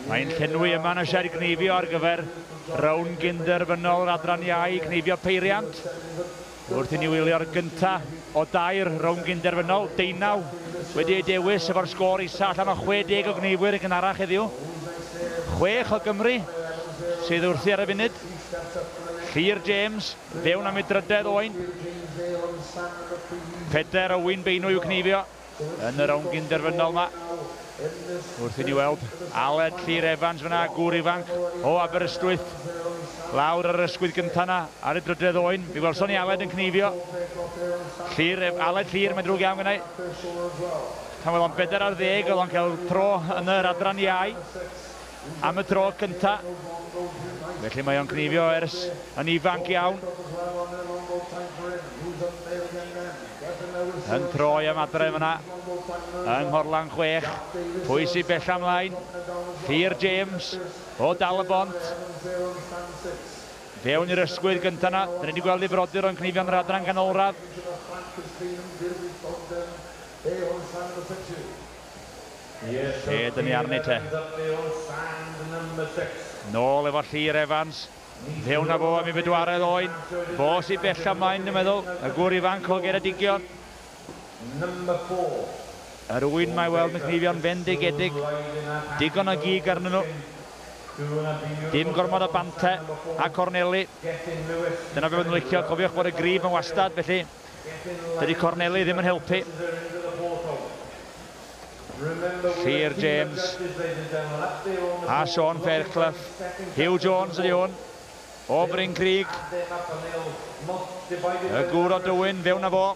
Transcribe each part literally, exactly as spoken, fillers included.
Mae'n llenwi yma yn y sied gneifio ar gyfer rownd gynderfynol yr adran iau, cneifio peiriant. Wrth i ni wylio'r gynta o dair rownd gynderfynol, deunaw wedi ei dewis efo'r sgôr isa allan o chwe deg o gneifwyr yn gynharach heddiw. Chwech o Gymru sydd wrthi ar y funud. Llyr James, fewn am ei drydedd oen. Pedair o wyn beinw i'w cneifio yn y rownd gynderfynol yma. Wrth i ni weld Aled Llyr Evans fyna, gŵr ifanc o Aberystwyth, lawr ar yr ysgwydd gyntaf yna ar y drydedd oen. Mi welson ni Aled yn cneifio. Llyr, Aled Llyr, mae'n drwg iawn gynnau. Pan oedd o'n bedair ar ddeg, oedd o'n cael tro yn yr adran iau am y tro cynta. Felly mae o'n cneifio ers yn ifanc iawn. Yn troi am adre fyna yng Nghorlan chwech. Pwy sy'n bella ymlaen? Llyr James o Dal y Bont. Fewn i'r ysgwydd gyntaf yna. Dyna ni wedi gweld ei frodyr o'n cneifio'n yr adran ganolradd. Lle dyn ni arni te? Nôl efo Llyr Evans. Fewn â fo am ei bedwaredd oen. Fo sy'n bella ymlaen, dwi'n meddwl. Y gŵr ifanc o Geredigion. Yr ŵyn mae weld yn cneifio'n fendigedig. Digon o gig arnyn nhw. Dim gormod o bante a corneli. Dyna be fydden nhw'n licio. Cofiwch bod y grib yn wastad, felly dydy corneli ddim yn helpu. Llyr James a Sean Fairclough. Hugh Jones ydy hwn o Bryn Crug. Y gŵr o Dywyn, fewn â fo.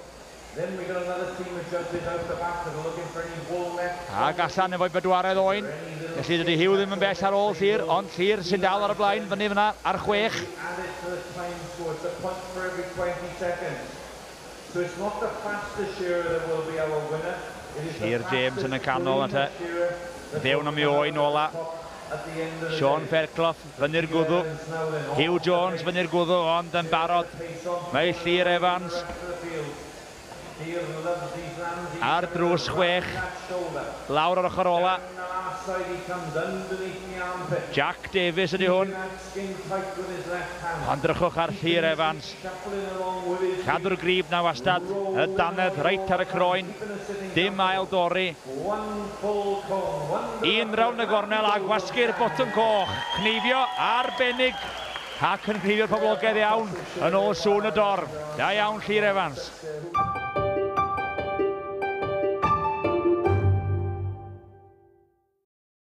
Ac allan efo'i bedwaredd oen. Felly dydy Hugh ddim yn bell ar ôl Llyr, ond Llyr sy'n dal ar y blaen fyny fyna ar chwech. Llyr James yn y canol na te. Fewn am ei oen ola. Sean Fairclough fyny'r gwddw. Hugh Jones fyny'r gwddw, ond yn barod. Mae Llyr Evans ar drws chwech. Lawr ar ochr ola. Jack Davies ydy hwn. Ond drychwch ar Llyr Evans. Cadw'r grib na wastad. Y dannedd reit ar y croen. Dim ail dorri. Un round y gornel a gwasgu'r botwm coch. Cneifio arbennig ac yn cneifio'r poblogaidd iawn yn ôl sŵn y dorf. Da iawn Llyr Evans.